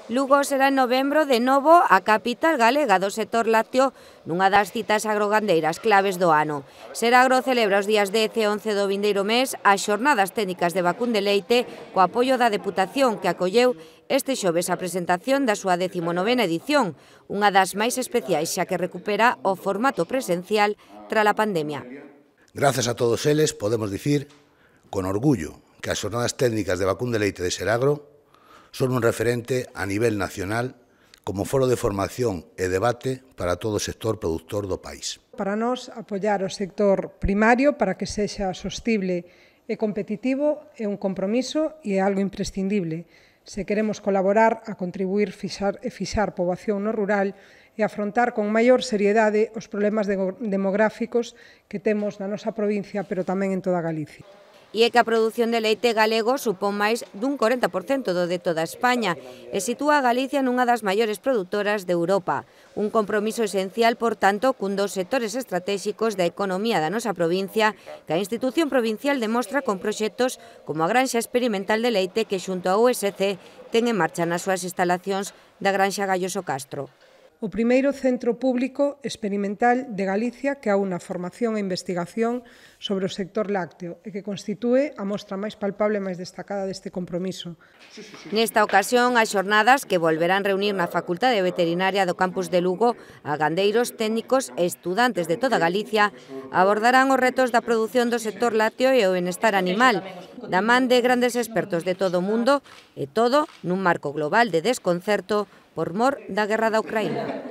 Lugo será en novembro de novo a capital galega do sector lácteo nunha das citas agrogandeiras claves do ano. Seragro celebra os días 10 e 11 do vindeiro mes as xornadas técnicas de vacún de leite co apoio da Deputación que acolleu este xoves a presentación da súa 19ª edición, unha das máis especiais xa que recupera o formato presencial tras a pandemia. Grazas a todos eles podemos dicir con orgullo que as xornadas técnicas de vacún de leite de Seragro son un referente a nivel nacional como foro de formación e debate para todo o sector produtor do país. Para nós, apoiar o sector primario para que sexa sostible e competitivo é un compromiso e é algo imprescindible. Se queremos colaborar a contribuir fixar poboación no rural e afrontar con maior seriedade os problemas demográficos que temos na nosa provincia, pero tamén en toda Galicia. E é que a produción de leite galego supón máis dun 40% do de toda España e sitúa a Galicia nunha das maiores produtoras de Europa. Un compromiso esencial, por tanto, cun dos sectores estratéxicos da economía da nosa provincia que a institución provincial demostra con proxectos como a Granxa Experimental de Leite que xunto á USC ten en marcha nas súas instalacións da Granxa Galloso Castro. O primeiro centro público experimental de Galicia que aúna formación e investigación sobre o sector lácteo e que constitúe a mostra máis palpable e máis destacada deste compromiso. Nesta ocasión, as xornadas que volverán reunir na Facultade Veterinaria do campus de Lugo a gandeiros, técnicos e estudantes de toda Galicia abordarán os retos da produción do sector lácteo e o benestar animal, da man de grandes expertos de todo o mundo e todo nun marco global de desconcerto por mor da guerra da Ucraína.